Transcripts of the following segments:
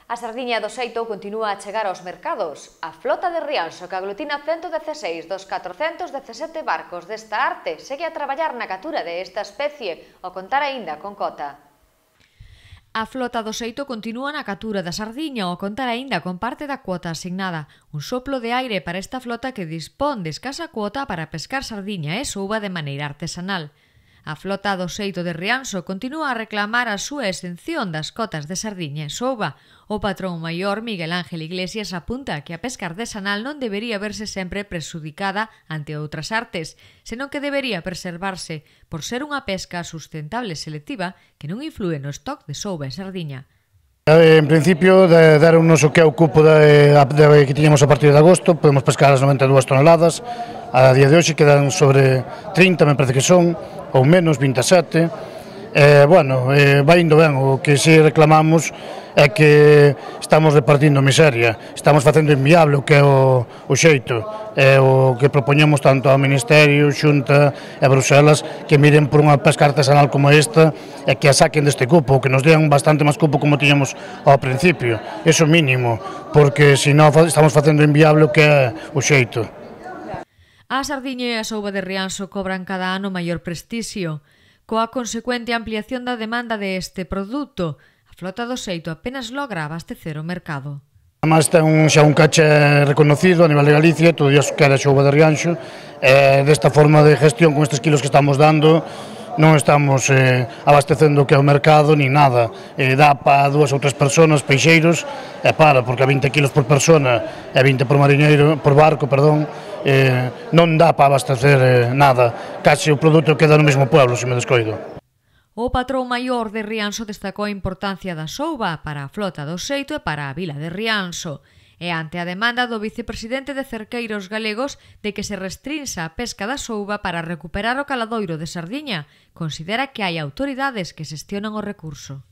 A sardiña do xeito continúa a chegar aos mercados. A flota de Rianxo, que aglutina 116 dos 417 barcos desta arte, segue a traballar na captura de esta especie, ao contar aínda con Cota. A flota do xeito continúa na captura da sardiña ao contar aínda con parte da cuota asignada. Un soplo de aire para esta flota que dispón de escasa cuota para pescar sardiña e souba de maneira artesanal. A flota do xeito de Rianxo continúa a reclamar a súa exención das cotas de sardiña e souba. O patrón maior, Miguel Ángel Iglesias, apunta que a pesca artesanal non debería verse sempre prexudicada ante outras artes, senón que debería preservarse por ser unha pesca sustentable e selectiva que non inflúe no stock de souba e sardiña. En principio, deronnos o que é o cupo que tiñamos a partir de agosto, podemos pescar as 92 toneladas, a día de hoxe quedan sobre 30, me parece que son, ou menos, 27, vai indo ben. O que si reclamamos é que estamos repartindo miseria, estamos facendo inviable o que é o xeito, é o que propoñemos tanto ao Ministerio, Xunta e Bruselas, que miren por unha pesca artesanal como esta e que a saquen deste cupo, que nos dean bastante máis cupo como tiñamos ao principio, iso mínimo, porque senón estamos facendo inviable o que é o xeito. A sardiña e a souba de Rianxo cobran cada ano maior prestixio. Coa consecuente ampliación da demanda deste produto, a flota do xeito apenas logra abastecer o mercado. Además ten xa un caché reconocido a nivel de Galicia, todo iso que era a souba de Rianxo, desta forma de gestión con estes kilos que estamos dando, non estamos abastecendo o que é o mercado ni nada, dá para 2 ou 3 persoas, peixeiros, porque a 20 kilos por persona e 20 por barco, non dá para abastecer nada, case o produto queda no mesmo pueblo, se me descoido. O patrón maior de Rianxo destacou a importancia da souba para a flota do xeito e para a vila de Rianxo. E ante a demanda do vicepresidente de Cerqueiros Galegos de que se restrinxa a pesca da souba para recuperar o caladoiro de sardiña, considera que hai autoridades que xestionan o recurso.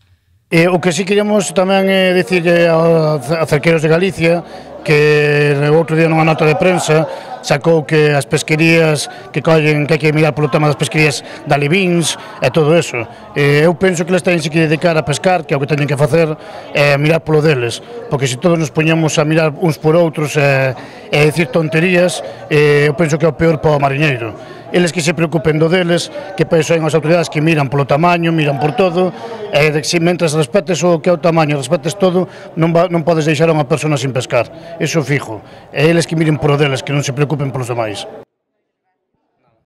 O que si queríamos tamén é dicirlle a Cerqueiros de Galicia que outro día nunha nota de prensa sacou que as pesquerías que collen, que hai que mirar polo tema das pesquerías de alevins e todo eso. Eu penso que eles teñen que dedicar a pescar, que é o que teñen que facer, é mirar polo deles, porque se todos nos poñamos a mirar uns por outros e dicir tonterías, eu penso que é o peor para o mariñeiro. Eles que se preocupen do deles, que pensen as autoridades que miran polo tamaño, miran por todo, e mentre respetes o que é o tamaño, respetes todo, non podes deixar a unha persona sin pescar, iso fijo. E eles que miren por o deles, que non se preocupen polos demais.